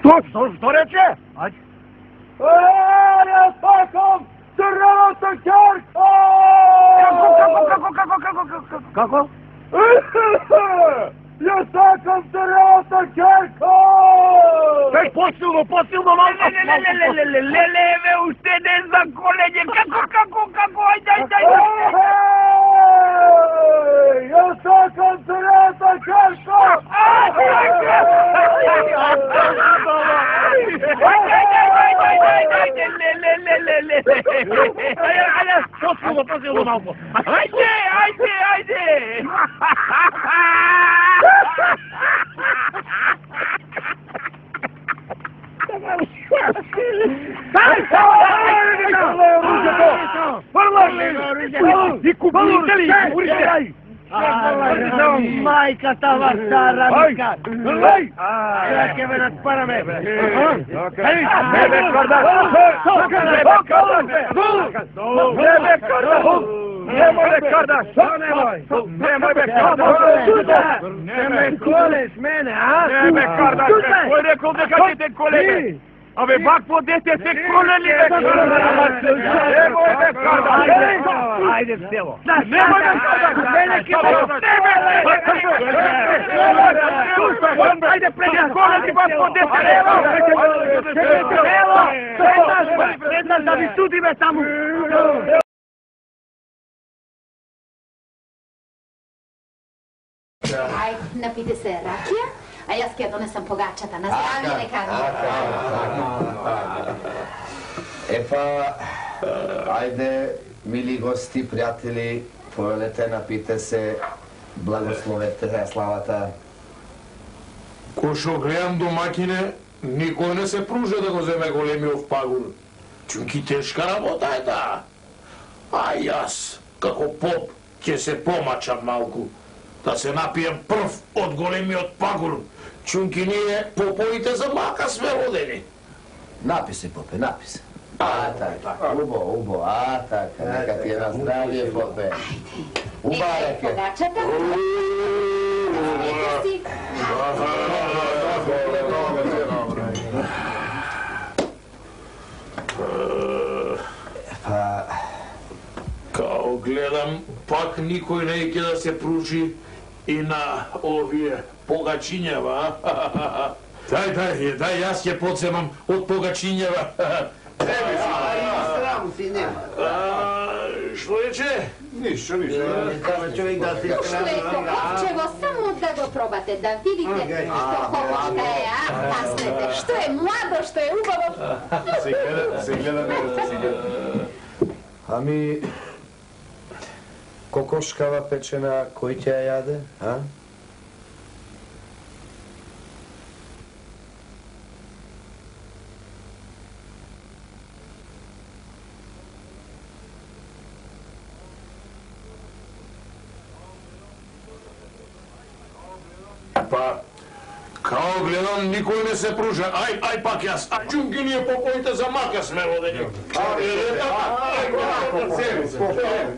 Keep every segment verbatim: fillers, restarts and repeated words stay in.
Што, што, што рече? Ајде. Е, ја сакам црвената ќерка! Како, како, како, како, како, како, како? Ја сакам црвената ќерка! Кај, посилно, посилно, малко! Леле, уште не за колење, како, како, како, ајде, ајде, ајде! Ја сакам црвената ќерка! Посилно, посилно малко! Ајде, ајде, ајде! И купите ли? Купите! Мајка тава стара мика! Ја ќе ме надпараме! Бебе карда! Бебе карда! Бебе карда! Немој ме кардаш! Немој ме кардаш! Не ме колеш мене, а? Не ме кардаш! Кој рекол дека ќе те колеме? Абе, бак по дете се колели, бе! Немој ме кардаш! Ајде в село! Немој ме кардаш! Мене ке ме тебе! Ајде, преди колели, бак по дете! Село! Преднаш да ви судиме таму! Ај, напите се ракија, а јас ќе донесам погачата на здравје лекарите. Епа, ајде, мили гости, пријатели, повелете, напите се, благословете славата. Кој шо гледам домакине, никој не се пружа да го земе големиот пагул. Чунки тешка работа е таа. А јас, како поп, ќе се помачам малку. Да се напием прв од големиот пагул. Чунки ние поповите за мака сме родени. Напи се, попе, напи се. А, така, убо, убо, а, така, нека ти е на здравје, попе. Убареке. Погачата. Ете си. Па... Као гледам, пак никој не ќе да се пружи и на овие погачињава. Дај, дај, дај, јас ќе подземам од погачињава. Тебе си. Сраму си нема. Што рече? Ништо, ништо. Кава човек да се Што е хоховчево, само да го пробате, да видите што хоховчка е, а? Таснете, што е младо, што е убаво. Се гледа, се гледа, се гледа. Ами... Кокошкава печена, кој ќе ја јаде, а? Па, као гледам, никој не се пружа. Ај, ај пак јас. А чунки ние поповите за мака сме родени.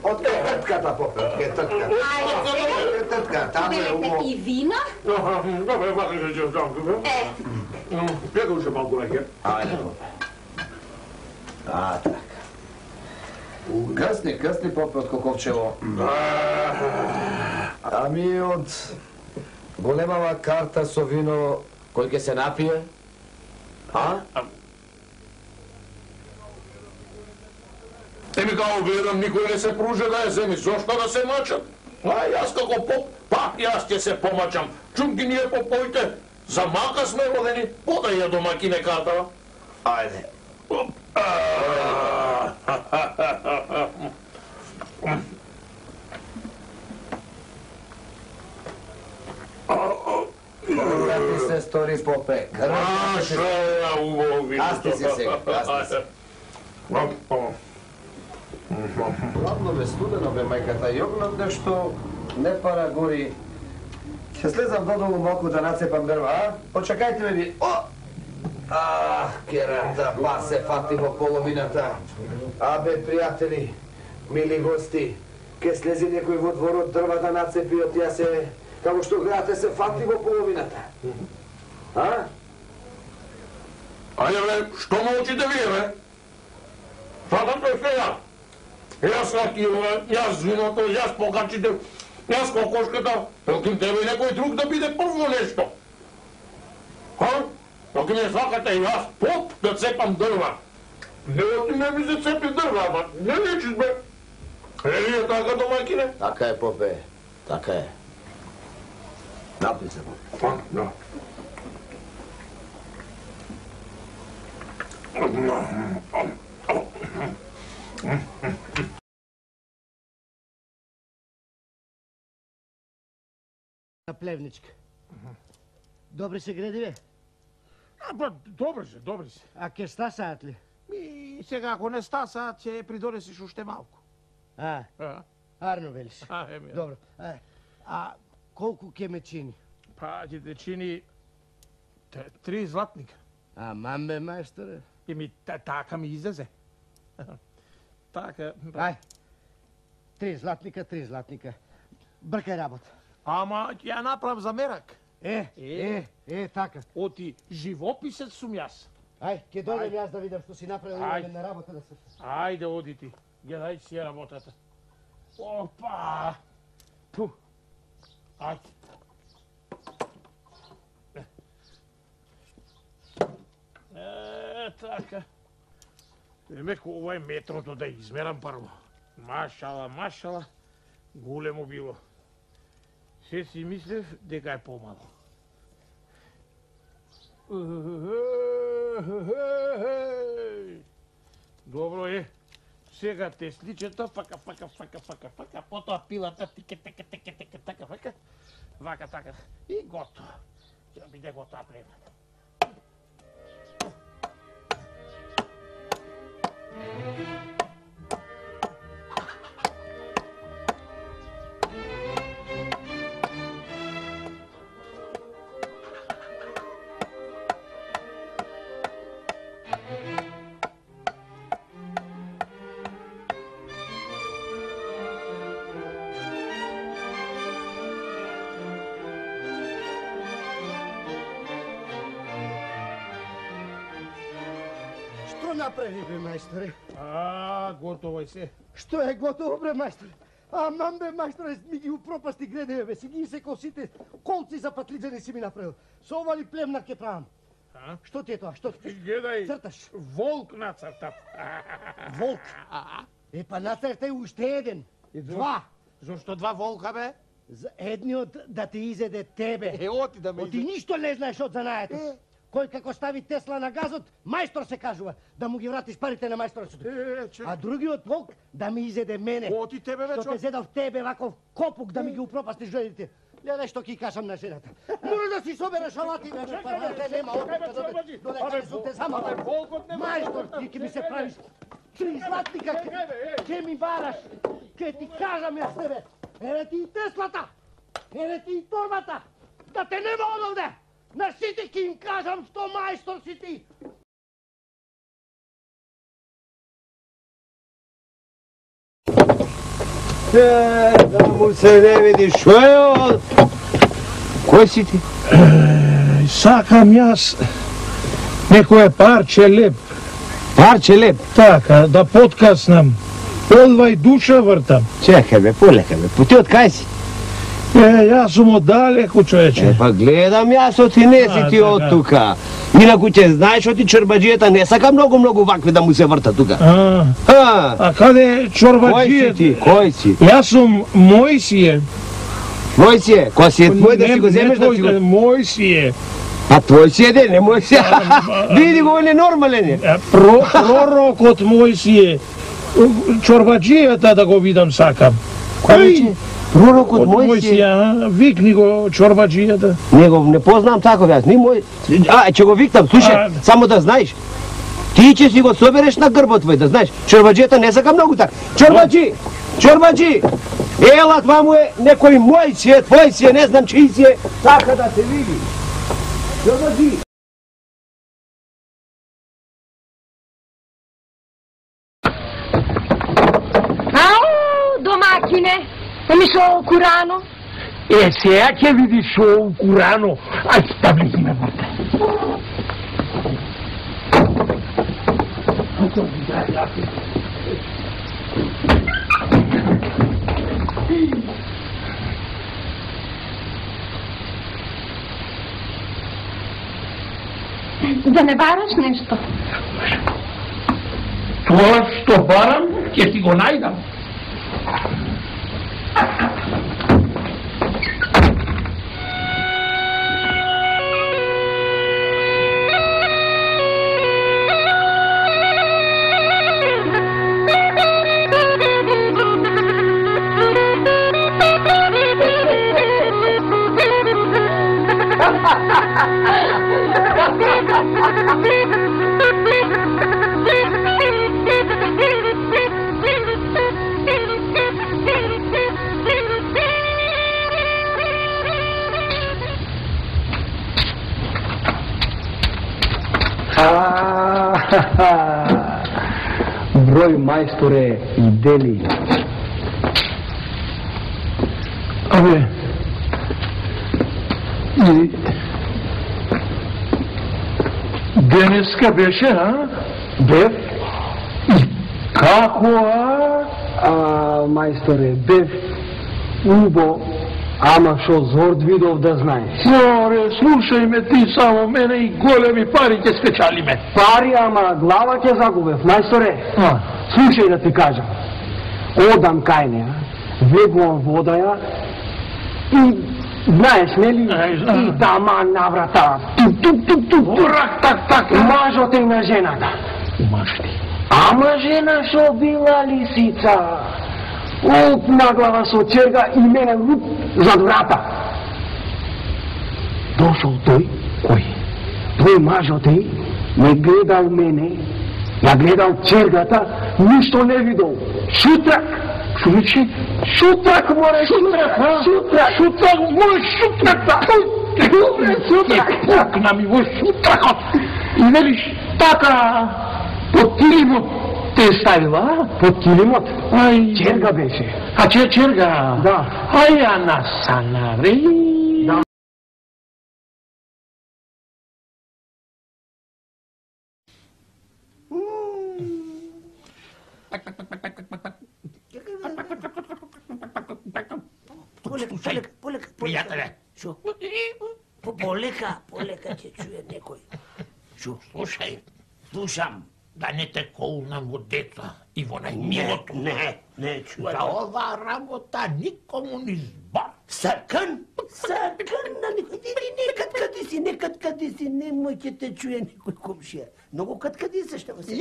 Од кетртката, попе, од кетртката. Ајде, Кетртка, таму е берете убаво. и вино. Добре, вака ќе ќе таму. Е, Пека уште малку леќе. Ајде, попе. А, така. Късни, късни, попе, од Коковчево. Ами од големава карта со вино, кој ќе се напие? А? Еми као гледам, никој не се пружа да ја земи. Зошто да се мачат? А јас како поп, пак јас ќе се помачам. Чунки ние поповите за мака сме родени, подај ја домакине картава. Ајде. Кога ти се стори, попе? А, шо ја убаво вино. Касти се сега, касти се. Ладно бе, студено бе, мајката, јогнат нешто не пара гори. Ќе слезам додолу малку да нацепам дрва, а? Почекајте ме ви. О! Ах, керата, па се фати во половината. Абе, пријатели, мили гости, ке слези некој во дворот дрва да нацепи, од ја се, како што гледате, се фати во половината. А? Ајде бе, што молчите вие бе? Сакам те сега. Јас ракијове, јас виното, јас покачите, јас кокошката, проти тебе некој друг да биде прво нешто. Ха? Ако не сакате и јас поп да цепам дрва. Не оти не ми се цепи дрва, ама не лечиш бе. Е ли е така домаќине? Така е, попе, така е. Напи се, попе. Да. На Плевничка. Добри се градиве? А, ба, добри се, добри се. А ке стасаат ли? Ми, сега ако не стасаат, ќе придонесиш уште малку. А, А, арно велиш. а еми. Добро. А, а колку ке ме чини? Па, ќе те чини т- три златника. А мамбе, мајсторе? Еми, та- така ми излезе. Така, па. Ај, три златника, три златника. Бркај работа. Ама ќе ја направам за мерак. Е, е, е, така. Оти живописец сум јас. Ај, ќе дојдем јас да видам што си направил, Ај. имаме на работа да се... Ајде, оди ти. Гледај си ја работата. Опа! Пу. Ајде. Е, така. Демек, ова е метрото да измерам прво. Машала, машала, големо било. Се си мислев дека е помало. Добро е. Сега тесличето, фака, фака, фака, фака, фака, потоа пилата, тике, теке, теке, теке, така, фака, вака, така, и готово. Ќе биде готова плевната. Што направи, бе, мајсторе? А, готово е се. Што е готово, бре, мајсторе? А, мамбе, мајсторе, ми ги упропасти гредеве, бе, си ги исекол сите колци за патлиџани си ми направил. Со ова ли племнак ке правам? А? Што ти е тоа? Што ти? Гледај, Црташ? волк нацртав. Волк. Е, па нацртај уште еден. Два. Зошто два волка, бе? За едниот да ти изеде тебе. Е, оти да ме Оти ништо не знаеш од занаето. Е. Кој како стави Тесла на газот, мајстор се кажува, да му ги вратиш парите на мајсторот. Е, че... А другиот волк да ми изеде мене. Оти тебе, бе, Што те чо... зедав тебе ваков копук да ми ги упропастиш жените. Гледај што ќе кажам на жената. Може да си собереш алати, бе, па те нема опит да доде. Додека сум те замала. Мајстор, ти ќе ми се правиш три златника, ќе ми бараш. Ќе ти кажам јас тебе. Еве ти и Теслата. Еве ти и торбата. Да те нема одовде. На сите ќе им кажам што мајстор си ти. Е, да му се не види, шо е ovo? Кој си ти? Сакам јас некое парче леп. Парче леп. Така, да подкаснам. Одвај душа вртам. Чекај бе, полека бе, по ти од кај си? Е, јас сум оддалеку, човече. Е, па гледам јас, оти не си А, ти од така. тука. Инаку ќе знаеш, оти чорбаджијата не сака многу-многу вакви да му се врта тука. А, А, а каде кој си чорбаджијата? ти, кој си? Јас сум Мојсије. Твој си е, кој си е твој да Не- си го не земеш да си го... твој, Мој си е. А твој си е, де, не мој си. Види го, он е нормален е. А, Про, пророкот мој си е. Чорбаджијата да го видам сакам. Кој е? Пророкот Од мој си е. Мојсија, викни го чорбаджијата. Не го не познам таков јас, ни мој. А, ќе го викнам, слушај, А. само да знаеш. Ти ќе си го собереш на грбот твој, да знаеш. Чорбаджијата не сака многу така. Чорбаджи! Чорбаджи! Ела, това му е некој мој си е, твој си е, не знам чиј си е, така да се види. Чорбаджи! Ау, домакине, еми шо курано? Е, сега ќе видиш шо укурано. Ајде, да влеземе врте. Да не бараш нешто? Тоа што барам, ќе ти го најдам. Број мајсторе и дели. Абе, и денеска беше, а? Бев? И како, а? А, мајсторе, бев убо, ама шо зорд видов да знаеш. Море, слушај ме ти само, мене и големи пари ќе спечали ме. Пари, ама глава ќе загубев, мајсторе. А, Слушај да ти кажам. Одам кај неа, влегувам водаја и знаеш, нели, Ај, знам. и тама на врата. Тук, тук, тук, тук, тук. Рак, так, так. Мажот е на жената. Маж ти. Ама жена шо била лисица. Оп на глава со черга и мене луп зад врата. Дошол тој, кој? Тој мажот е, ме гледал мене, ја гледал чергата, ништо не видел. Шутрак! Шо рече? Шутрак, море, шутрак! Шутрак! Шутрак, мој шутрак, да! Шутрак! Пукна ми во шутракот! И велиш, така, под килимот те ставила, а? Под килимот? Ај, Черга беше. А че черга? Да. Ај, а на санари. Да. Полека, полека, полека, Пријателе. Шо? По- Полека, полека ќе чуе некој. Шо? Слушај, Слушам. да не те колнам во деца и во најмилото. Не, не чуе. За ова работа никому ни збор. Сакан, сакан на некој. Иди некад кади си, некад кади си, немој ќе те чуе некој комшија. Многу кад кади се што се.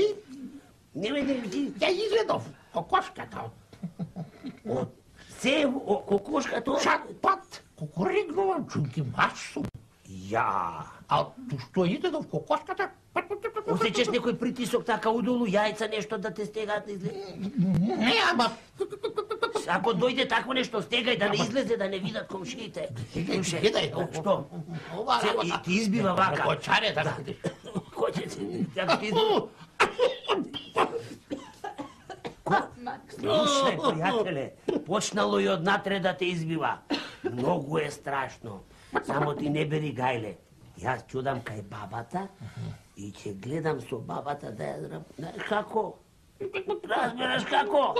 Немој да ти Ја изгледов кокошката. од се о кокошката. Чак пат, кукуригнувам, чунки масу. Ја. А ту што изгледов кокошката? Осеќаш некој притисок така удолу, јајца нешто да те стегаат на излез. Не, ама... Ако дојде такво нешто, стегај да не излезе, да не видат комшиите. Слушај, Гледај, што? Ова Се, работа... и ти избива вака. Кочаре да видиш. Кој ќе се... Како ти избива? Слушај, пријателе, почнало и однатре да те избива. Многу е страшно. Само ти не бери гајле. Јас чудам кај бабата и ќе гледам со бабата да ја зрам. Знаеш како? Разбираш како?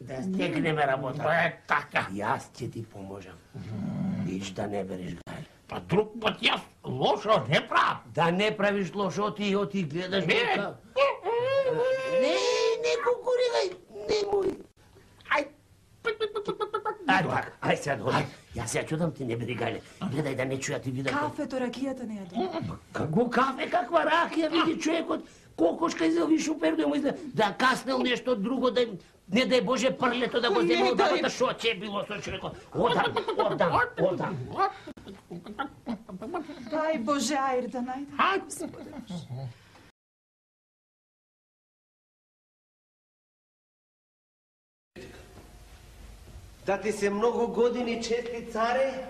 Да стегнеме работа. Е, така. Јас ќе ти поможам. Ич да не береш гајле. Па друг пат јас лошо не правам. Да не правиш лошо, ти оти гледаш Не. дека... Не, не кукуригај, немој. Ај, Ај така, ај сега дојди. Јас ја чудам ти не бери гајле. Гледај да не чуја ти видат. Кафето, ракијата не јаде. Како кафе, каква ракија, види човекот. Кокошка изел шупер да му изле. Да каснел нешто друго, да не дај Боже прлето да го земе од бабата. Шо ќе било со човекот? Одам, одам, одам. Дај Боже ајр да најде. ај, Да ти се многу години чести царе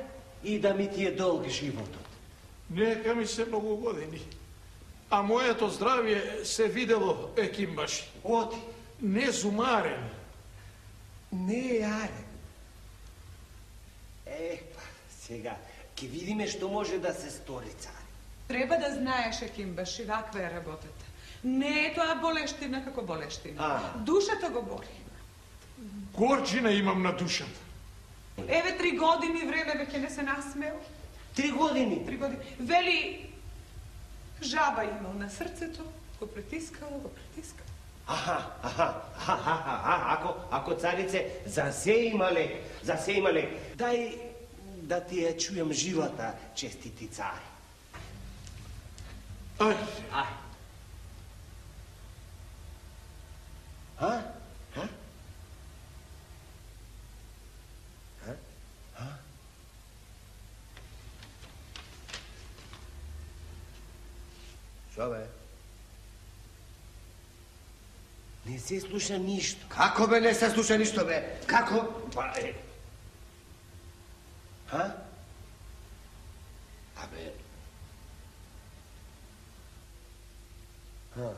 и да ми ти е долг животот. нека ми се многу години. А моето здравје се видело, екимбаши. Оди, Не зумарен. не е арен. Е, па, сега, ќе видиме што може да се стори, царе. Треба да знаеш, Екимбаши, ваква е работата. Не е тоа болештина како болештина. Душата го боли. Горчина имам на душата. Еве три години време веќе не се насмел. Три години? Три години. Вели, жаба имал на срцето, го притискало, го притискало. Аха, аха, аха, аха, ако, ако царице, за се има лек, за се има лек. Дај да ти ја чујам живата, честити цари. Ај. Ај. А? А? А? Шо бе? Не се слуша ништо. Како бе не се слуша ништо бе? Како? Па е. Ха? Абе. Ха?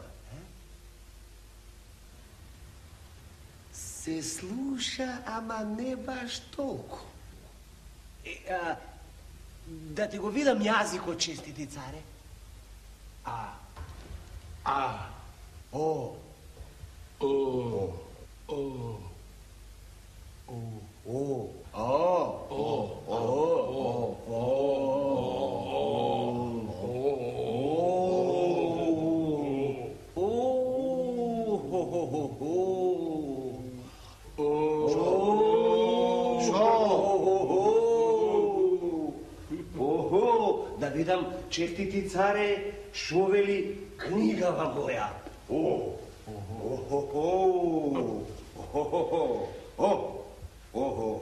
Се слуша, ама не баш толку. Е, а, да ти го видам јазикот, честити царе? А. А. О. О. О. О. О. О. О. О. Да видам, честити царе, шо вели книгава моја. О, о, о, о, о, о, о,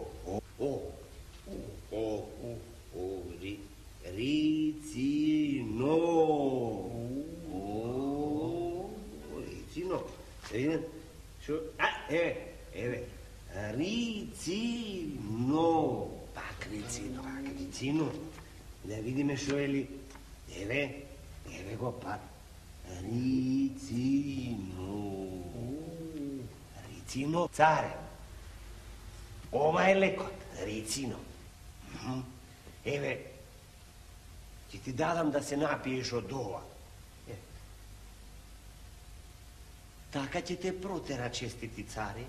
о, о, о, ри, рицино, о, рицино, видим, шо, а, еве, еве, рицино, пак рицино, пак рицино. Да видиме шо е ли. Еве, еве го пак. Рицино. Рицино, царе. Ова е лекот. Рицино. Еве, ќе ти дадам да се напиеш од ова. Така ќе те протера, честити царе.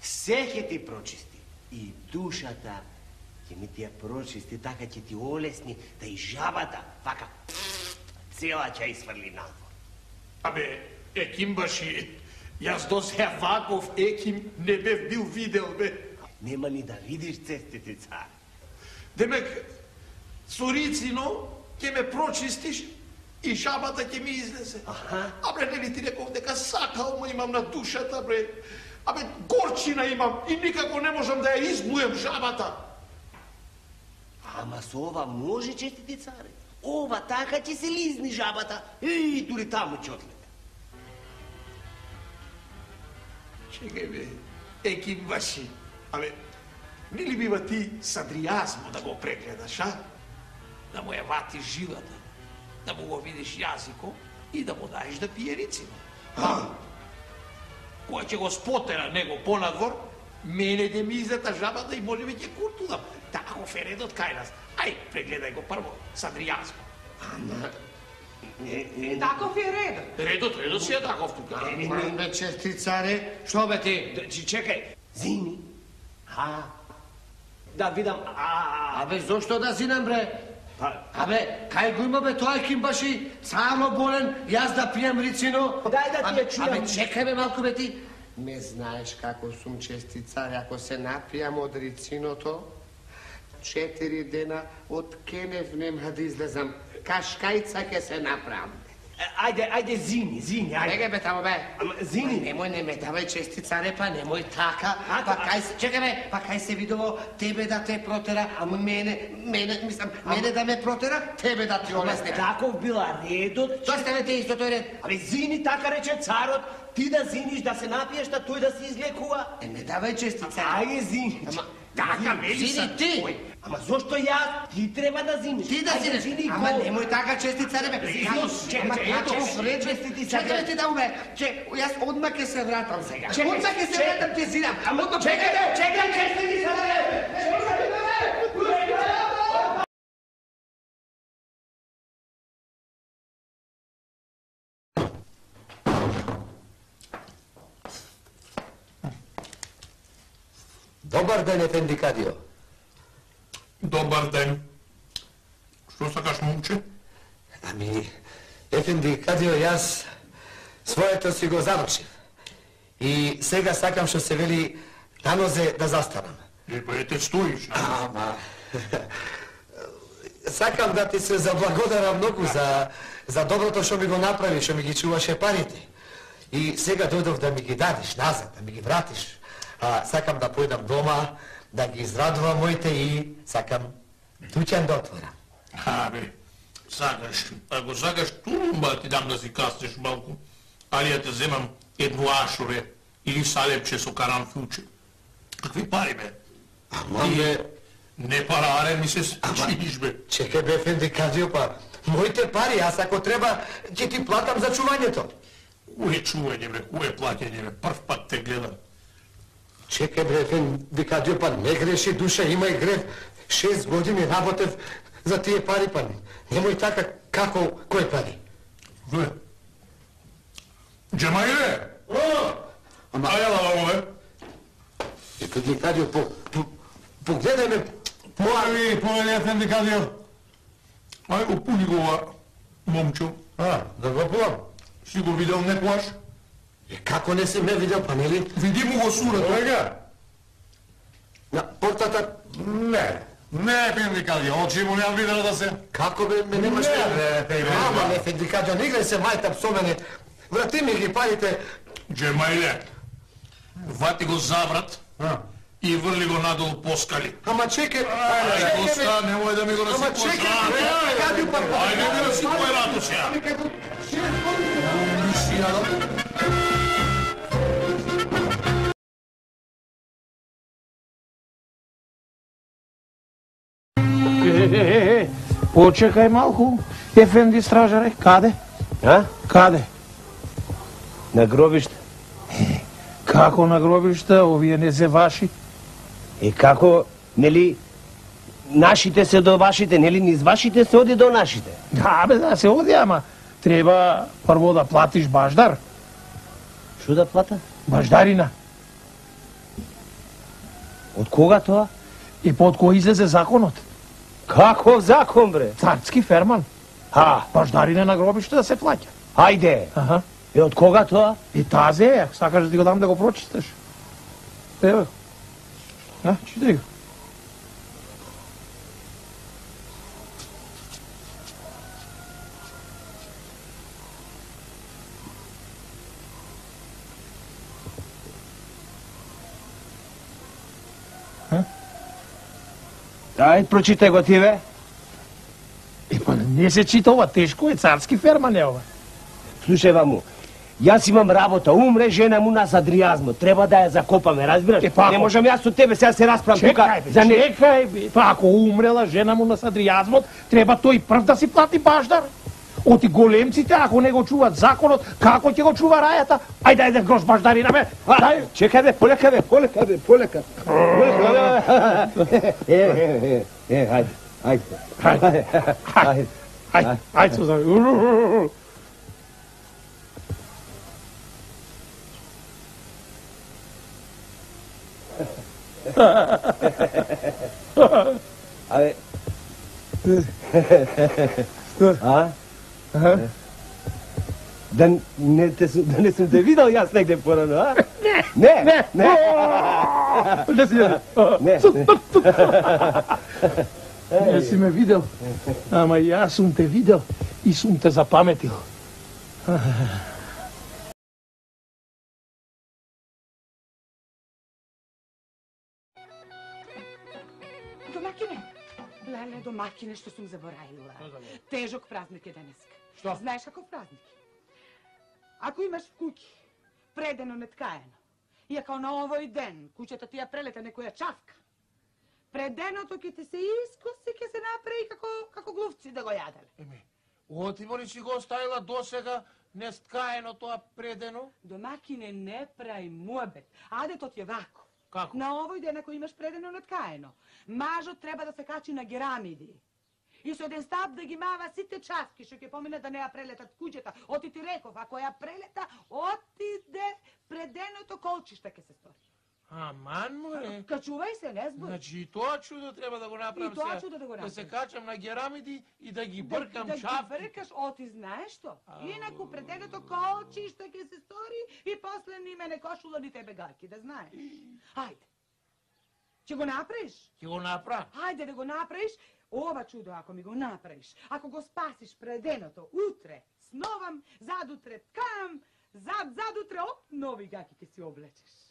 Се ќе ти прочисти. И душата ќе ми ти ја прочисти, така ќе ти олесни, да и жабата, вака, цела ќе изфрли надвор. Абе, Екимбаши, јас до сега ваков Еким не бев бил видел, бе. Нема ни да видиш, честити цар. Демек, со рицино ќе ме прочистиш и жабата ќе ми излезе. Аха. Абе, нели ти реков дека сакалма имам на душата, бре. Абе, горчина имам и никако не можам да ја изблуем жабата. Ама со ова може, честити царе. Ова така ќе се лизни жабата и дури таму ќе отлета. Чекај бе, Екимбаши, абе, не ли бива ти садријазмо да го прегледаш, а? Да му ја ватиш жилата, да му го видиш јазико и да му даеш да пие рицино. А? Која ќе го спотера него понадвор, мене де ми излета жабата и може би ќе куртудам. Таков е редот кај нас. Ај, прегледај го прво, садријазмо. Ама... Е, таков е редот. Редот, редот си е таков тука. Бе, чести царе, шо бе ти? Чекај, зини. А, да видам, а... Абе, зошто да зинам, бре? Абе, кај го има, бе, тоа Екимбаши, царо болен, јас да пијам рицино. Дај да ти ја чујам. Абе, чекај бе малку, бе, ти. Не знаеш како сум, чести царе, ако се напијам од рициното, четири дена од Кенев нема да излезам. Кашкајца ќе се направам. Ајде, ајде, зини, зини, ајде. Неге бе тамо бе. Ама, зини. Немој, не ме давај, чести царе, па немој така. Па кај се, чекај бе, па кај се видово тебе да те протера, ама мене, мене, мислам, мене да ме протера, тебе да ти олесне. Таков била редот. Тоа сте те исто тој ред. Абе, зини, така рече царот, ти да зиниш, да се напиеш, да тој да се излекува. Е, не давај, чести царе. Ајде, зини. Ама, така, зини, зини ти. Ама зошто јас? Ти треба да зиниш. Ти да зинеш. Ама немој така, чести царе, бе. Чекај, чекај, честити царе. Чекај ти да уме. Чек, јас одма ќе се вратам сега. Чекај, Одма ќе се вратам, ќе зинам. Ама чекај, чекај, честити царе. Добар ден, Ефенди Кадио. Добар ден. Што сакаш, момче? Ами, Ефенди Кадио, јас своето си го завршив. И сега сакам што се вели на нозе да застанам. Е, па ете стоиш, на? Ама... Сакам да ти се заблагодарам многу за, за доброто што ми го направи, што ми ги чуваше парите. И сега дојдов да ми ги дадеш назад, да ми ги вратиш. А, сакам да појдам дома, да ги израдувам моите и сакам дуќан да отворам. Абе, сакаш, ако сакаш турумба ти дам да си каснеш малку, али ја те земам едно ашуре или салепче со каранфуче. Какви пари, бе? Ама, бе... Не параре ми се чиниш, бе. Чекај, бе, Ефенди Кадио, па моите пари, аз ако треба, ќе ти платам за чувањето. Кое чување, бе, кое плаќање, бе, прв пат те гледам. Чекај, бе, Ефенди Кадио, па не греши душа, има и грев. Шест години работев за тие пари, па немој така, како, кој пари? Ве, Джемајле! О! Ама... Ајала, вамо, бе. Ефенди Кадио, по, по, погледај ме. Повели, повели, Ефенди Кадио. Ај го пуни го ова, момчо. А, да го пувам. Си го видел некојаш? Е, како не си ме видел, па нели? Види му го сурато. Сега? На портата... Не, не, Ефенди Кадио, очи му неам видел да се... Како бе, ме немаш... Не, бе, те бе. Ама, Ефенди Кадио, не играј се мајтап со мене. Врати ми ги парите. Джемајле, вати го заврат и врли го надолу по скали. Ама чекај... Ајде, Коста, немој да ми го Ама насипуваш чекај, рато. бе, Кадио, па... Ајде, не ми насипувај рато сега. Е, почекај малку. Ефенди стражаре, каде? А? Каде? На гробиште. Како на гробишта, овие не се ваши? И како, нели, нашите се до вашите, нели, низ вашите се оди до нашите? Да, бе, да се оди, ама треба прво да платиш баждар. Шо да плата? Баждарина. Од кога тоа? И под кој излезе законот? Каков закон, бре? Царски ферман. А, Баждарина на гробиште да се плаќа. ајде. Аха. И од кога тоа? И тазе е, сакаш да ти го дам да го прочиташ. Ево. А, читай го. Ајде, прочитай го ти, бе. И па не се чита ова, тешко е, царски ферман е ова. Слушај, ваму, јас имам работа, умре жена му нас адријазмо, треба да ја закопаме, разбираш? Е, па, не ако- можам јас со тебе сега се расправам тука Чекај, бе, за не... чекај, бе. Па ако умрела жена му на садријазмот, треба тој прв да си плати баждар. Оти големците, ако не го чуваат законот, како ќе го чува рајата? Ајде, ајде, грош баждарина, бе. Дај. Чекај, бе, полека, бе, полека, бе, полека. Полека, бе. Е, е, е, е, ајде, ајде. Ајде, ајде, ајде, ајде, Сузан. Абе. А? Да не те сум, да не сум те видел јас негде порано, а? Не. Не. Не. Не си Не. Не си ме видел, ама јас сум те видел и сум те запаметил. Домакине, леле, домакине, што сум заборавила. Тежок празник е денеска. Што? Знаеш каков празник? Ако имаш в куќи предено неткаено, и ако на овој ден куќата ти ја прелета некоја чавка, преденото ќе ти се искоси, ќе се направи како, како глувци да го јаделе. Еми, оти моли си го оставила досега несткаено тоа предено? Домакине, не прај муабет. Адетот е вако. Како? На овој ден ако имаш предено неткаено, мажот треба да се качи на герамиди. И со еден стап да ги мава сите чавки што ќе поминат да не ја прелетат куќата. Оти ти реков, ако ја прелета, отиде преденото колчишта ќе се стори. Аман, море. Качувај се, не збори. Значи и тоа чудо треба да го направам И тоа сега. чудо да го Да се направиш. качам на герамиди и да ги бъркам да, да чапки. Да ги бркаш, о, ти знаеш што? Инаку пред дедото колчи што ќе се стори и после ни мене кошула ни тебе гајки, да знаеш. Ајде. Ќе го направиш? Ќе го направам. Ајде да го направиш. Ова чудо, ако ми го направиш, ако го спасиш преденото, утре сновам, задутре ткам, зад, задутре, оп, нови гаки ќе си облечеш.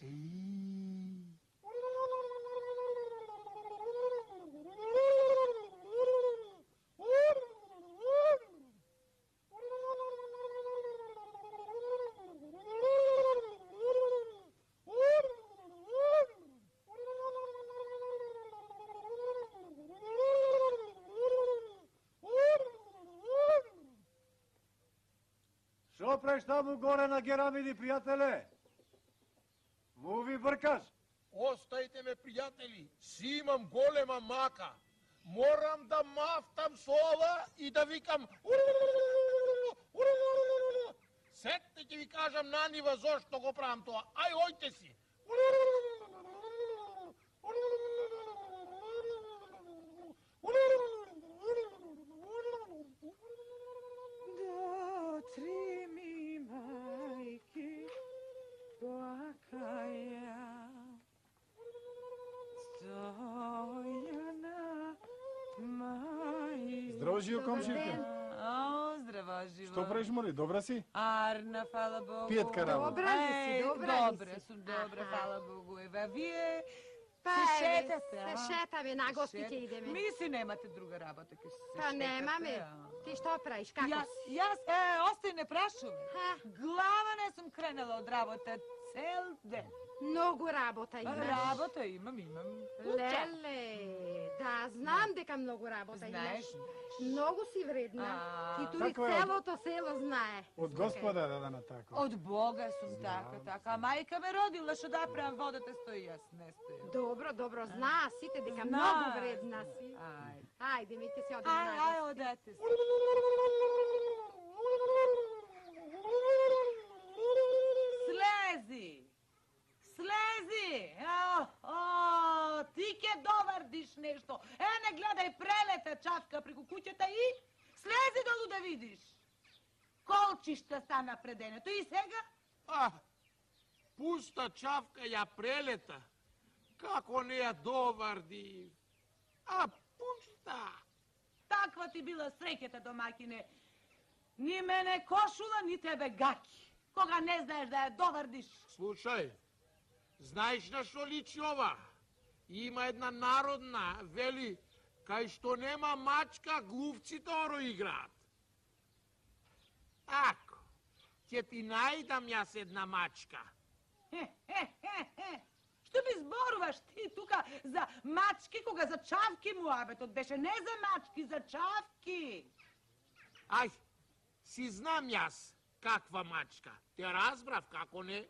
Шо преш таму горе на герамиди, пријателе? Му ви бъркаш? Остајте ме, пријатели, си имам голема мака. Морам да мафтам со ова и да викам сетте ќе ви кажам на нива зошто го правам тоа. Ај, ојте си. До три ми мајки плакаја, стојана мајка. Здраво, живо, комширке. О, здраво, живо. Што правиш, моли? Добра си? Арна, фала Богу. Пијетка работа. Добра ли си, Еј, добра ли добре си? сум, добре, фала Богу. Ева, вие Па, се еве, шетате, а? се шетаме, на гости ќе идеме. Ми си немате друга работа, ќе се Па шетате, немаме. а? Ти што правиш, како Јас, си? јас, е, остај не прашувам. Ха, Глава не сум кренала од работа цел ден. многу работа имаш. Работа имам, имам. Леле, да, знам дека многу работа имаш. Знаеш, Многу си вредна. А, И тури како е? целото село знае. Од Господа да да на тако. од Бога сум така, така. А мајка ме родила, што да правам, водата стои, јас не стојам. Добро, добро, знаа сите дека Знаа, многу вредна си. Ајде. Ајде, ми ќе се одиме Ај, ај, на одете се. Слези! Слези! О, о, ти ќе довардиш нешто. Е, не гледај, прелета чавка преку куќата и слези долу да видиш. Колчишта стана преденето и сега? А, пуста чавка ја прелета. Како не ја доварди. А, пуста. Таква ти била среќата, домакине. Ни мене кошула, ни тебе гаки. Кога не знаеш да ја довардиш. Слушај, знаеш на што личи ова? Има една народна, вели, кај што нема мачка, глувците оро играат. Ако, ќе ти најдам јас една мачка. Хе, хе, хе, хе. Што ми зборуваш ти тука за мачки, кога за чавки муабетот беше? Не за мачки, за чавки. Ај, си знам јас каква мачка. Те разбрав, како не?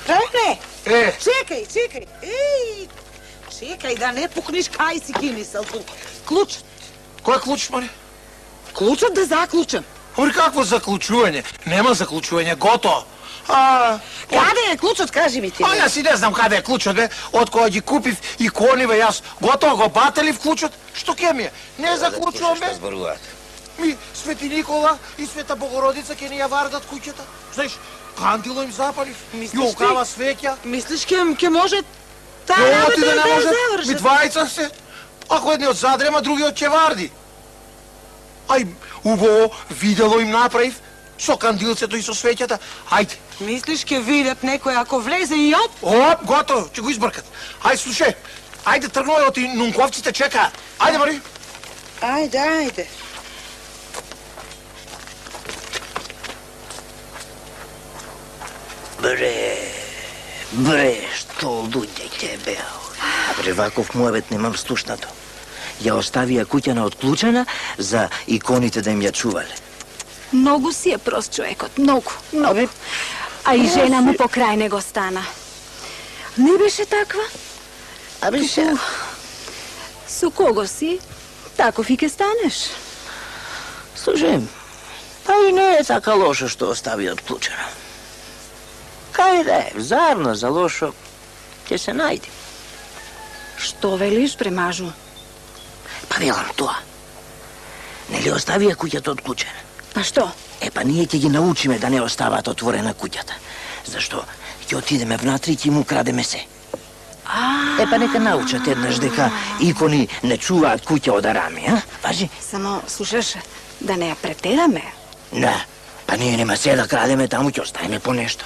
Рене! Е! Чекај, чекај! Еј! Чекај да не пукниш кај си кинисал тук. Клучот. Кој клуч, маре? Клучот да заклучам. Ори какво заклучување? Нема заклучување, готово. А, Каде е клучот, кажи ми ти? а јас и не знам каде е клучот, бе. Од кога ги купив и кониве, јас готово го бателив клучот. Што ке ми е? Не заклучувам, бе. Ми, Свети Никола и Света Богородица ќе ни ја вардат куќата. Знаеш, кандило им запалив. Мислиш И окава ти? свеќа. Мислиш ке, ке може таа Оти работа да да не ја може. Ми завршат? двајца се. Ако едниот задрема, другиот ќе варди. Ај, убаво, видело им направив. Со кандилцето и со свеќата. Ајде. Мислиш ке видат некој ако влезе и оп? Оп, готово, ќе го избркат. Ајде, слушај. Ајде, тргнуваме, оти нунковците чекаат. Ајде, Мари. Ајде, ајде. Бре, бре, што луѓе ќе беа. Бре, ваков муабет немам слушнато. Ја оставија куќана отклучена за иконите да им ја чувале. Многу си е прост човекот, многу, многу. А и жена му покрај него стана. Не беше таква? Абе, Туку, ше... Со кого си? Таков и ке станеш. Слушай, па и не е така лошо што остави отклучена. Кај да е, зарно за лошо, ќе се најде. Што велиш, премажу? Па велам тоа. Нели оставија куќата отклучена? Па што? Е, па ние ќе ги научиме да не остават отворена куќата. Зашто ќе отидеме внатре и ќе му крадеме се. Е, па нека научат еднаш дека икони не чуваат куќа од арами, а? Важи? Само, слушаш, да не ја претераме. Не, па ние нема се да крадеме, таму ќе оставиме по нешто.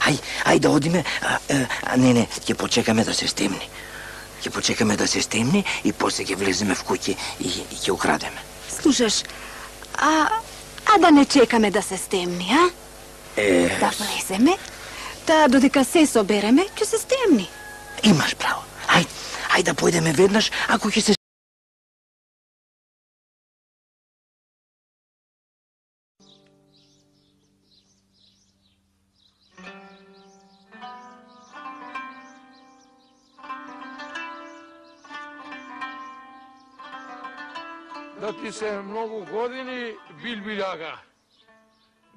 Ај, ај да одиме, а, а не, не, ќе почекаме да се стемни. Ќе почекаме да се стемни и после ќе влеземе в куќи и, и ќе украдеме. Слушаш, а, а да не чекаме да се стемни, а? Е... Да влеземе, та додека се собереме, ќе се стемни. Имаш право. Ај, ај да појдеме веднаш, ако ќе се... Да ти се многу години, Билбиљага.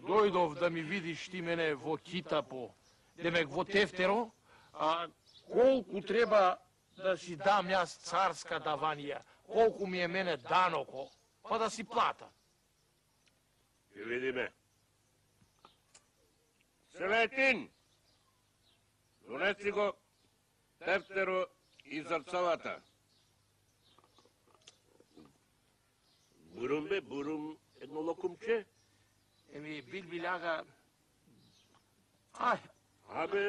Дојдов да ми видиш ти мене во Китапо, демек во тефтеро, а колку треба да си дам јас царска даванија, колку ми е мене даноко, па да си плата. Ќе видиме. Селетин, донеси го тефтеро и зрцалата. Бурум бе, бурум, едно локумче. Еми, Билбиљага, ај, Абе,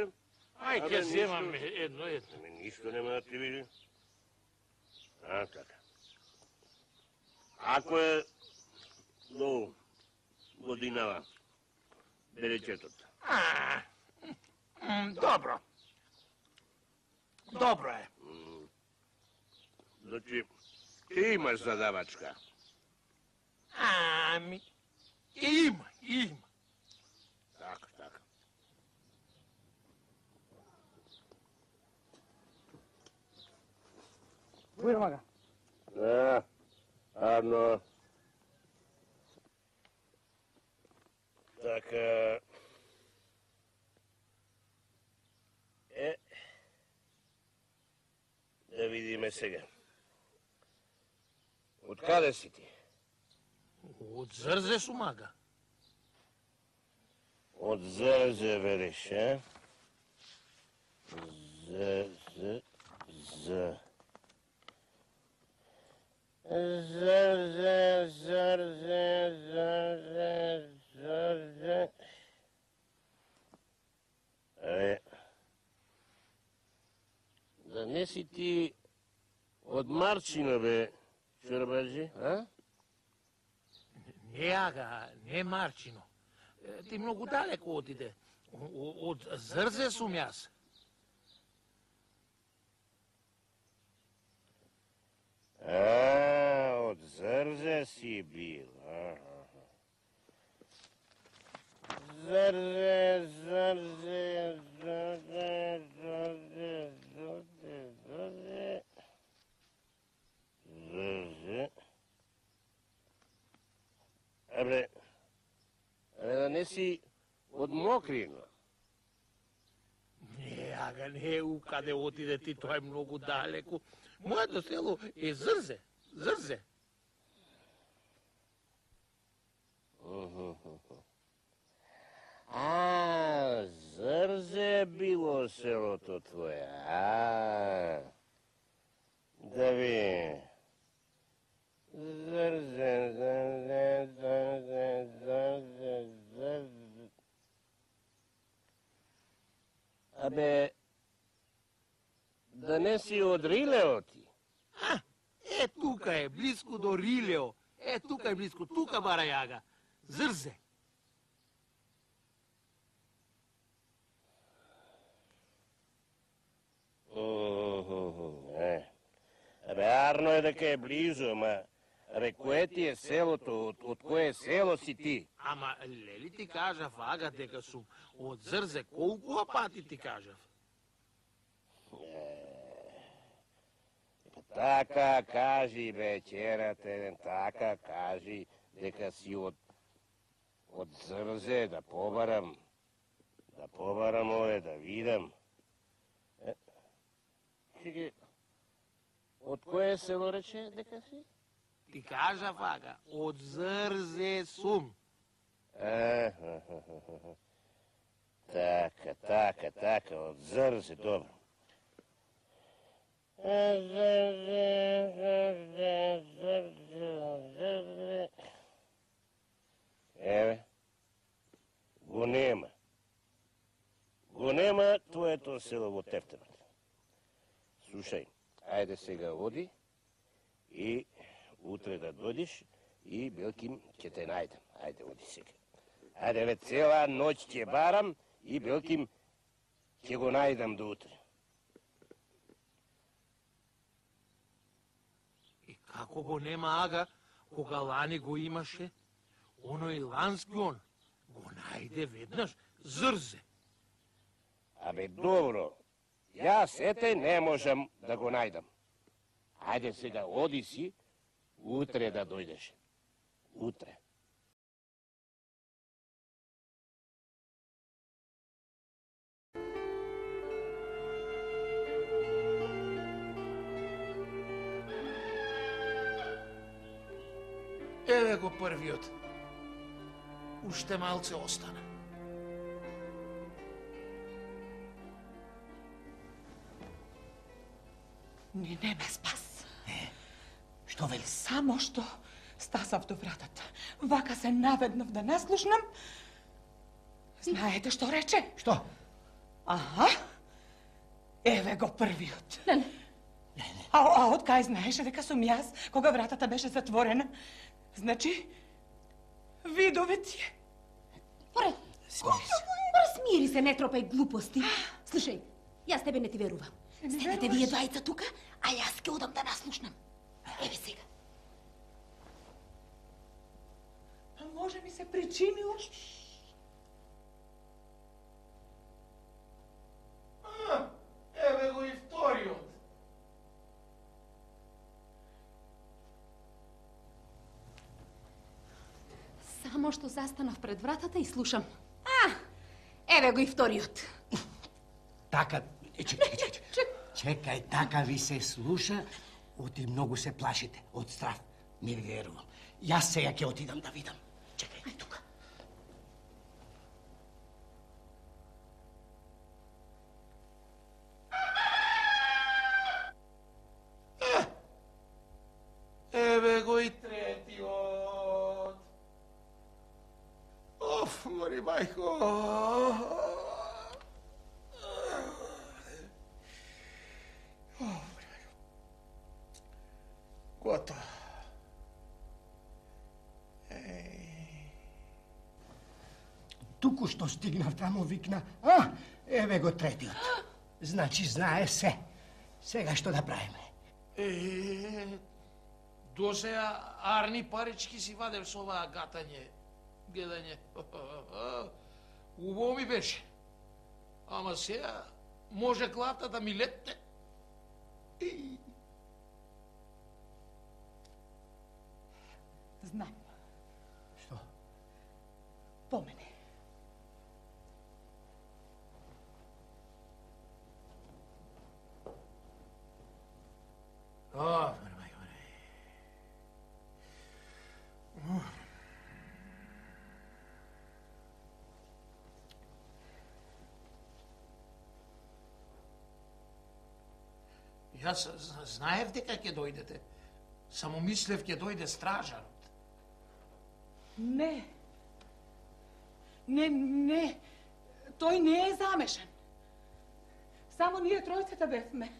ај, ќе земам едно, едно. Ами, ништо нема да ти види. А, така. Ако е до годинава, беречетот. А, м, добро. Добро е. Значи, ти имаш задавачка. Ами, има, има. Така, така. Бујр мага. А, арно. Така. Е, да видиме сега. Од каде си ти? Од Зрзе сумага. Од Зрзе велиш, е? Зрзе, З. Зрзе, Зрзе, Зрзе, Зрзе. Е, да не си ти од Марчина, бе, Чорбаджи, а? Не, ага, не Марчино. Ти многу далеко отиде. Од Зрзе сум јас. А, од Зрзе си бил, аха. Зрзе, Зрзе, Зрзе, Зрзе, Зрзе, Зрзе, Зрзе. Абре, абре да не си од Мокрина. Не, ага, не, у каде отиде ти, тоа е многу далеко. Моето село е Зрзе, Зрзе. А, Зрзе било селото твое, а. Да ви. Зрзе, Зрзе, Зрзе, Зрзе, Зрзе. Абе, да не си од Рилео ти? А, е, тука е, близко до Рилео. Е, тука е близко, тука, бара јага. Зрзе. Е, абе, арно е дека е близо, ама... Абе, кое ти е селото? Од, од кое село си ти? Ама, лели ти кажав, ага, дека сум од Зрзе, колку пати ти кажав? Така кажи, бе, черате, така кажи, дека си од... од Зрзе да побарам, да побарам ове, да видам. Чеки, од кое село рече дека си? Ти кажа вака, од Зрзе сум. Така, така, така, од Зрзе, добро. Еве, го нема. Го нема твоето село во тефтерот. Слушај, ајде сега оди и утре да дојдеш и белким ќе те најдем. Ајде, оди сега. Ајде, ве цела ноќ ќе барам и белким ќе го најдам до утре. И како го нема ага, кога лани го имаше, оној лански он го најде веднаш Зрзе. Абе, добро, јас ете не можам да го најдам. Ајде сега оди си, утре да дојдеш. Утре. Еве го првиот. Уште малце остана. Ни не ме спас. Што вели? Само што стасав до вратата. Вака се наведнав да не слушнам. Знаете што рече? Што? Аха. Еве го првиот. Не, не. Не, не. А, а од кај знаеше дека сум јас, кога вратата беше затворена? Значи, видовец е. Пора, пора смири се, не тропај глупости. Слушај, јас тебе не ти верувам. Седете вие двајца тука, а јас ке одам да наслушнам. Еве сега. А може ми се причинило? Еве го и вториот. Само што застанав пред вратата и слушам. А, еве го и вториот. Така, чекај, чекај. Чекај, така ви се слуша, оти многу се плашите од страв. Не ви верувам. Јас сега ќе отидам да видам. Чекај, ај тука. Еве го и третиот. Оф, мори мајко. Готово. Туку што стигнав таму викна, а, еве го третиот. Значи знае се. Сега што да правиме? Е, до сега арни парички си вадев со оваа гатање, гледање. Убаво ми беше. Ама сега може главата да ми летне. Знам. Што? По мене. О, мај, мај. Јас знаев дека ќе дојдете. Само мислев ќе дојде стражарот. Не. Не, не. Тој не е замешан. Само ние тројцата бевме.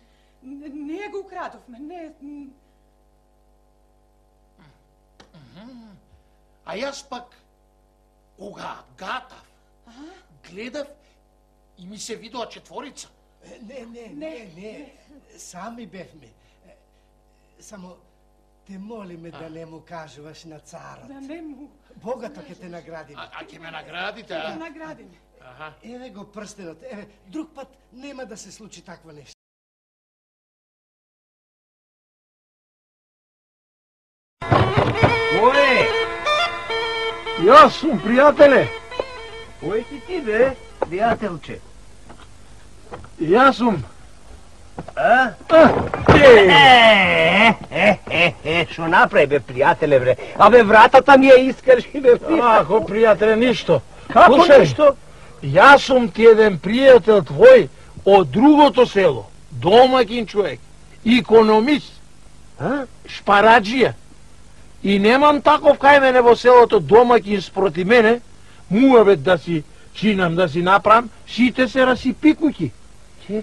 Ние го украдовме. Не. А јас пак, кога гатав, гледав и ми се видоа четворица. Не, не, не, не. Сами бевме. Само те молиме да не му кажуваш на царот. Да не му. Богато ќе те наградиме. А, а ќе ме наградите, Ќе а? те наградиме. Аха. Еве го прстенот, еве, друг пат нема да се случи такво нешто. Јас сум, пријателе. Кој си ти, бе, пријателче? Јас сум. А? Е, е, е, е, шо направи, бе, пријателе, бре? Абе, вратата ми ја искрши, бе, пријателе. Ако, пријателе, ништо. Како Слушај, ништо? Јас сум ти еден пријател твој од другото село, домакин човек, икономист, а? Шпараджија. И немам таков кај мене во селото домакин спроти мене, муабет да си чинам, да си направам, сите се расипи куќи.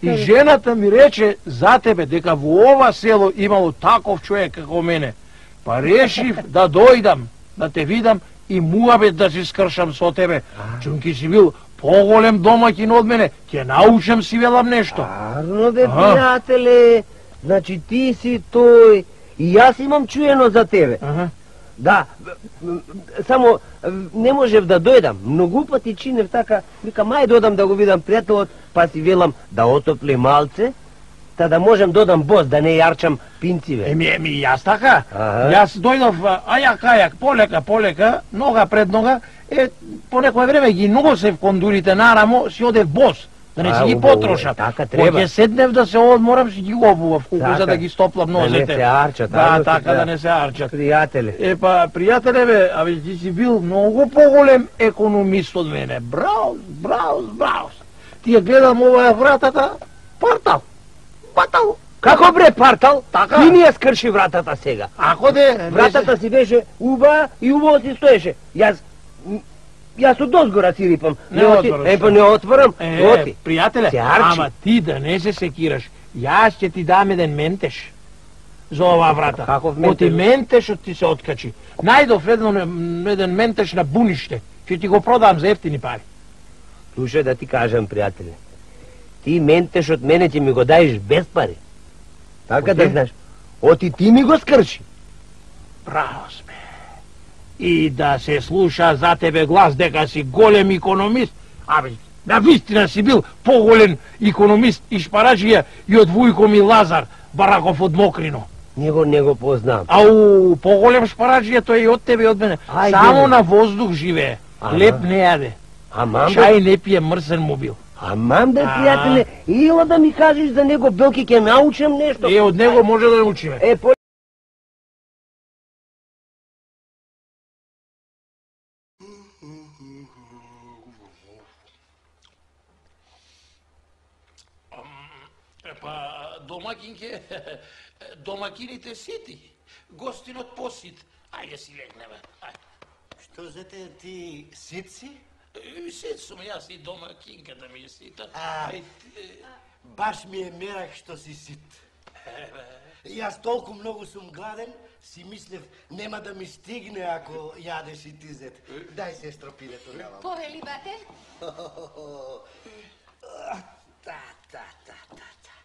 И жената ми рече за тебе дека во ова село имало таков човек како мене. Па решив да дојдам, да те видам и муабет да си скршам со тебе. Чунки си бил поголем домакин од мене, ќе научам си велам нешто. Арно, бе, пријателе, значи ти си тој, и јас имам чуено за тебе. Ага. Да, само не можев да дојдам, многу пати чинев така, вика, мај додам да го видам пријателот, па си велам да отопли малце, та да можем додам бос, да не јарчам пинциве. Еми, еми, јас така, Ага. јас дојдов ајак, ајак, полека, полека, нога пред нога, е, по некој време ги носев кондурите нарамо, си одев бос, да не А, си ги убаво е, потрошам. така треба. Кога ќе седнев да се одморам, си ги обував куку, Така. за да ги стоплам нозете. Да не се арчат, Да, арно си така, треба. да не се арчат. Пријателе. Е, па, пријателе, бе, абе, ти си бил многу поголем економист од мене. Браус, браус, браус. Ти ја гледам ова вратата, партал, партал. Како, бре, партал? Така. Ти ми ја скрши вратата сега. Ако де... Вратата си беше уба и убаво си стоеше. Јас... Јас од озгора си рипам. Не оти- отвораш. Е, па не отворам. Е, Оти. пријателе, Се арчи. ама ти да не се секираш. Јас ќе ти дам еден ментеш за оваа врата. Каков Оти ментеш? ментешот ти се откачи. Најдов еден, еден ментеш на буниште. Ќе ти го продам за ефтини пари. Слушај да ти кажам, пријателе. Ти ментеш од мене ќе ми го даеш без пари. Така да Оти? знаеш. Оти ти ми го скрши. Браво сме. И да се слуша за тебе глас дека си голем икономист. Абе, на вистина си бил поголем икономист и шпараджија и од Вујко ми Лазар, Бараков од Мокрино. Него не го познам. Ау, поголем шпараджија тој и од тебе и од мене. Ајде, Само бе. на воздух живее. Ама. Леп не јаде. Амам, бе, Чај не пие, мрсен му бил. амам, бе, А. пријателе. Ила да ми кажеш за него, Белки, ќе научам нешто. Е, од него може да научиме. Е, по... Па, домакинке, домакините сити, гостинот посит. Ајде си легнеме. Што за те ти сит си? Сит сум јас и домакинката ми е сита. А, баш ми е мерак што си сит. Јас толку многу сум гладен, си мислев нема да ми стигне ако јадеш и ти зет. Дај се стропилето на вам. Повели, бате? Та, та, та, та, та.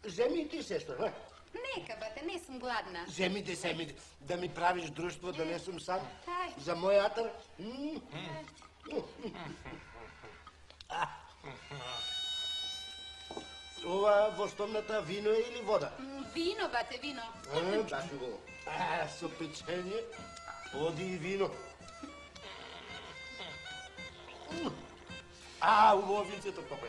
Земи и ти, сестро, а? Нека, бате, не сум гладна. Земи те, земи те, да ми правиш друштво, да не сум сам. Ај. За мој атар. А. Ова во стомната вино е или вода? М, Вино, бате, вино. А, баш го. А, со печење, оди и вино. А, убаво винцето, папе.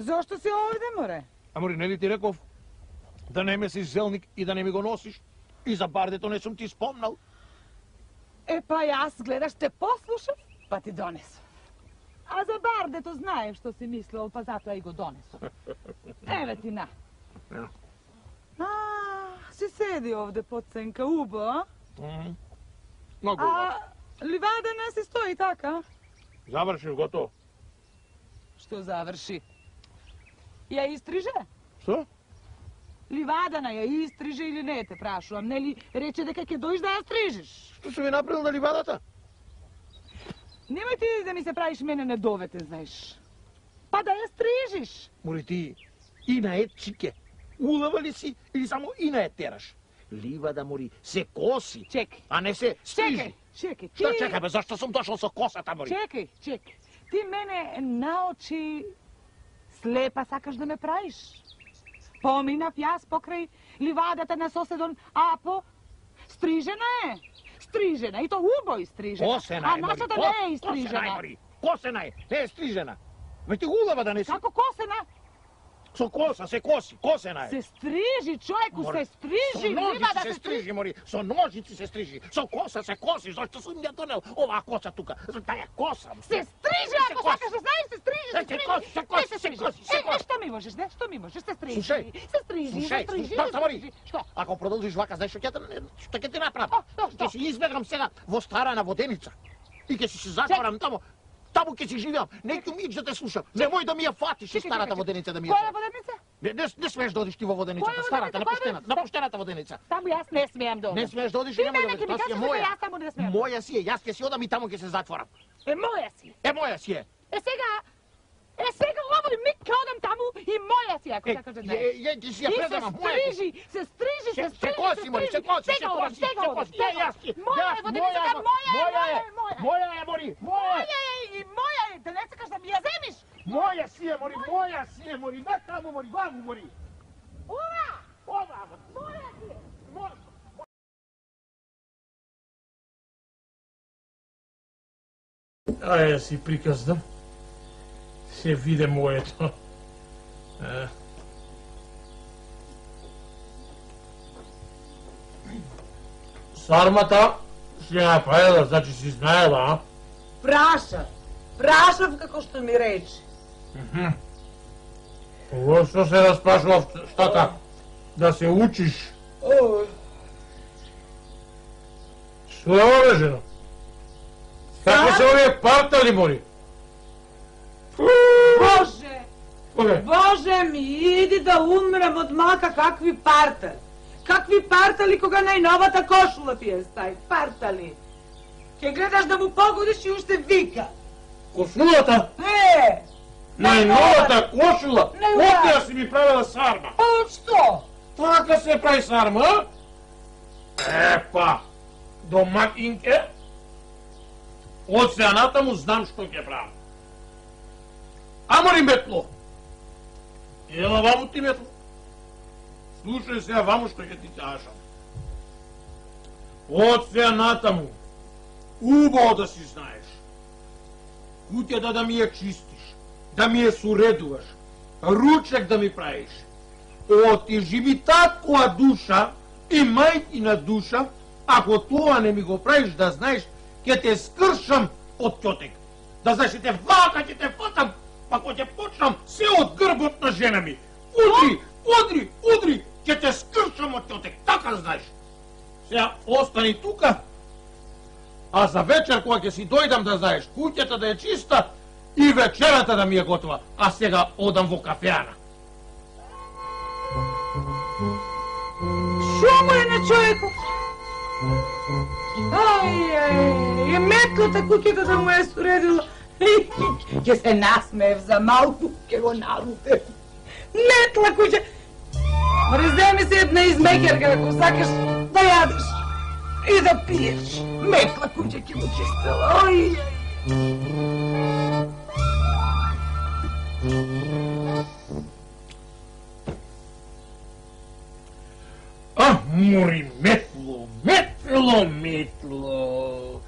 Зошто си овде, море? Амори, нели ти реков да не месиш зелник и да не ми го носиш? И за бардето не сум ти спомнал. Е, па јас гледаш те послушав, па ти донесов. А за бардето знаев што си мислел, па затоа и го донесов. Еве ти на. А, си седи овде под сенка, убо, а? Многу А ливада не си стои така? Завршил, готово. Што заврши? Ја истриже? Што? Ливадана ја истриже или не, те прашувам, нели рече дека ќе дојдеш да ја стрижиш? Што се ви направил на ливадата? Немој ти да ми се правиш мене недовете, знаеш. Па да ја стрижиш. Мори ти, и на е чике. Улава ли си или само и на е тераш? Ливада, мори, се коси. Чекай. А не се стрижи. Чекай, чекай. Што ти- чекай, бе, зашто сум дошол со косата, мори? Чекай, чекай. Ти мене наочи слепа сакаш да ме правиш? Поминав јас покрај ливадата на соседон Апо. Стрижена е. Стрижена, и то убо изстрижена. Косена А е, мори. нашата ко- не е Косена е, изстрижена. мори. Косена е, не е стрижена. Ме ти улава да не си. Како косена? Со коса, се коси, косена е. Се стрижи, човеку, Мори, се стрижи. Со ножици ливада се стрижи, мори. Со ножици се стрижи. Со коса се коси. Зашто сум ја донел оваа коса тука? За таа коса. Се стрижи, Се ако коси. сакаш да знаеш, се стрижи, се Се стрижи. коси, се коси, Е, се коси, се Е, е, коси. што ми можеш, не? Што ми можеш? Се стрижи. Слушај, Се стрижи, се Слушај, стрижи, што се мори? стрижи. Што? Ако продолжиш вака, знаеш што ќе те- што ќе ти направам? Што, што? Ќе си избегам сега во старана воденица. И ќе си се затворам тамо. Таму ќе си живеам. Неќу мич да те слушам. Немој да ми ја фатиш и Чекај, старата чекај, воденица да ми ја. Која воденица? Не, не, не смееш да одиш ти во воденицата, Која старата, на воденица? Која поштената, на поштената воденица. Таму јас не смеам да одам. Не смееш да одиш и Ти нема да мене одиш. ќе ми Тоа си е кажеш дека моја. јас таму не смеам. Моја си е, јас ќе си одам и таму ќе се затворам. Е, моја си. Е, моја си е. Е, сега, е, сега овој миг ќе одам таму и моја си, ако Е, сакаш да е, знаеш. е, ти си ја И предавам, се моја ти. стрижи, се стрижи, се Се- стрижи, се коси, мори, се коси, се Сега одам, коси, сега се одам, коси. сега Е, јас ти, одам. Моја јас, е воденицата, моја е, моја е, моја моја е, е, моја е. моја е, мори, моја е. Моја е и моја е, да не сакаш да ми ја земиш. Моја си е, мори, моја си е, мори, на таму, мори, ваму, мори. Ова! Ова, Моја си е. моја. Ај, си приказдам. Се виде моето. Е. Сармата си ја направила, значи си знаела, а? Прашав, прашав како што ми рече. Во што се распрашував, штата? Да се учиш. О, Што е ове, жено? Какви се овие партали, мори? Боже! Кога? Боже ми, иди да умрем од мака, какви партали. Какви партали кога најновата кошула ти е стај, партали. Ке гледаш да му погодиш и уште вика. Кошулата? Е! Најновата кошула? Најновата. Од ја си ми правила сарма. А од што? Така се прави сарма, а? Епа, домакинке, од сеаната му знам што ќе правам. Амори метло! Ела ваму ти метло. Слушај сега ваму што ќе ти кажам. Од сеаната му, убаво да си знаеш. Куќата да ми ја чистиш, да ми ја суредуваш, ручек да ми правиш. Отижи ми таква душа и мајкина душа, ако тоа не ми го правиш да знаеш, ќе те скршам од ќотек. Да знаеш, ќе те вака, ќе те фатам, па кога ќе почнам се од грбот на жена ми. Удри, удри, удри, ќе те скршам од ќотек, така знаеш. Сега остани тука, а за вечер кога ќе си дојдам да знаеш, куќата да е чиста и вечерата да ми е готова, а сега одам во кафеана. Шо му е на човекот? Ај, ај, е метлата куќата да му е суредила. Ке се насмеев за малку, ке го налутев. Метла куќа. Море, земи се една измекерка, ако сакаш да јадеш и да пиеш. Метла куќа ке му чистила. Ај, ај. А, мори метло, метло, метло.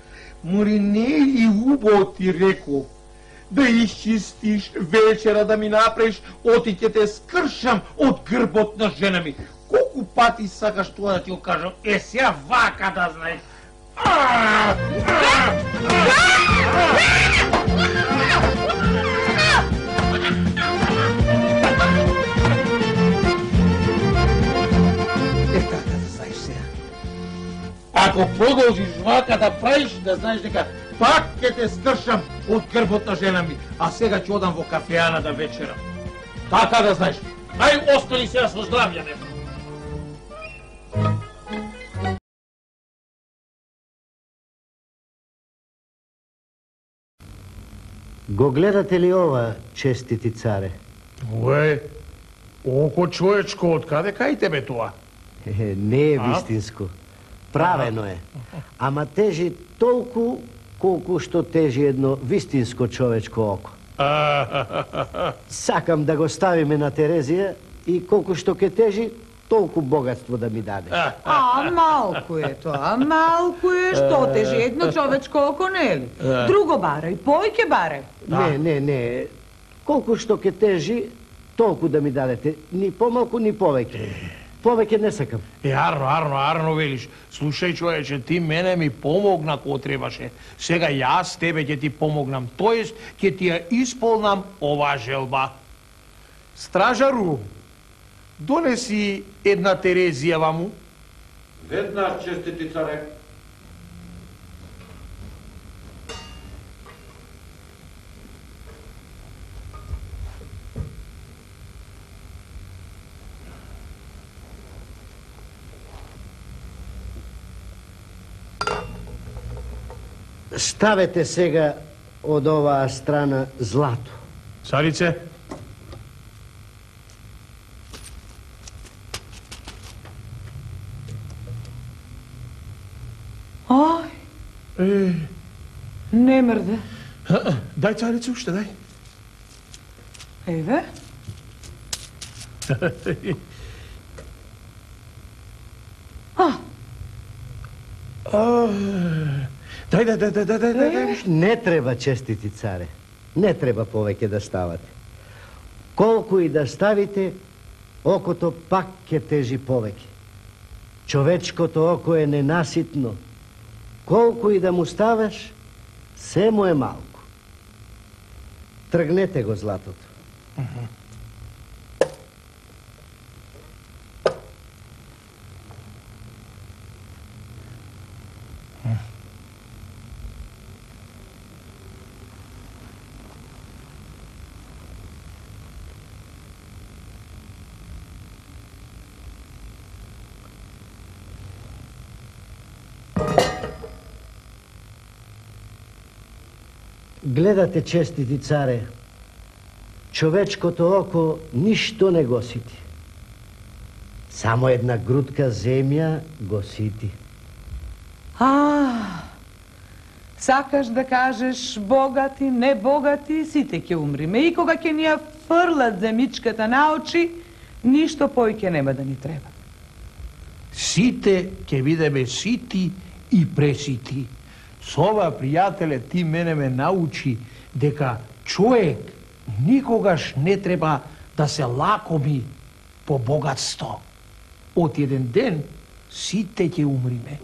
Мори не и убаво ти реков да исчистиш, вечера да ми направиш, оти ќе те скршам од грбот на жена ми. Колку пати сакаш тоа да ти го кажам? Е, сега вака да знаеш. Е, така да знаеш сега. Ако продолжиш вака да правиш, да знаеш дека пак ќе те скршам од грбот на жена ми, а сега ќе одам во кафеана да вечерам. Така да знаеш. Ај, остани сега со здравје, нема. Го гледате ли ова, честити царе? Уе, око човечко, од каде кај тебе тоа? Е, не е вистинско. Правено е. Ама тежи толку колку што тежи едно вистинско човечко око. Сакам да го ставиме на Терезија и колку што ке тежи, толку богатство да ми даде. А, малку е тоа, малку е, што тежи едно човечко око, нели? Друго барај, појќе барај. Не, не, не. Колку што ке тежи, толку да ми дадете. Ни помалку, ни повеќе. Повеќе не сакам. Е, арно, арно, арно велиш. Слушај, човече, ти мене ми помогна кога требаше. Сега јас тебе ќе ти помогнам. Тоест, ќе ти ја исполнам оваа желба. Стражару, донеси една Терезија ваму. Веднаш, честити царе. Ставете сега од оваа страна злато. Царице? Ај, Е, не мрде. дај, царице, уште дај. Еве. А, Дај, дај, дај, дај, дај, дај, дај. Не треба, честити царе. Не треба повеќе да ставате. Колку и да ставите, окото пак ќе тежи повеќе. Човечкото око е ненаситно. Колку и да му ставаш, се му е малку. Тргнете го златото. Гледате, честити царе, човечкото око ништо не го сити. Само една грудка земја го сити. а, сакаш да кажеш богати, не богати, сите ќе умриме. И кога ќе ни ја фрлат земичката на очи, ништо појќе нема да ни треба. Сите ќе бидеме сити и пресити. Со ова, пријателе, ти мене ме научи дека човек никогаш не треба да се лакоми по богатство. Од еден ден сите ќе умриме.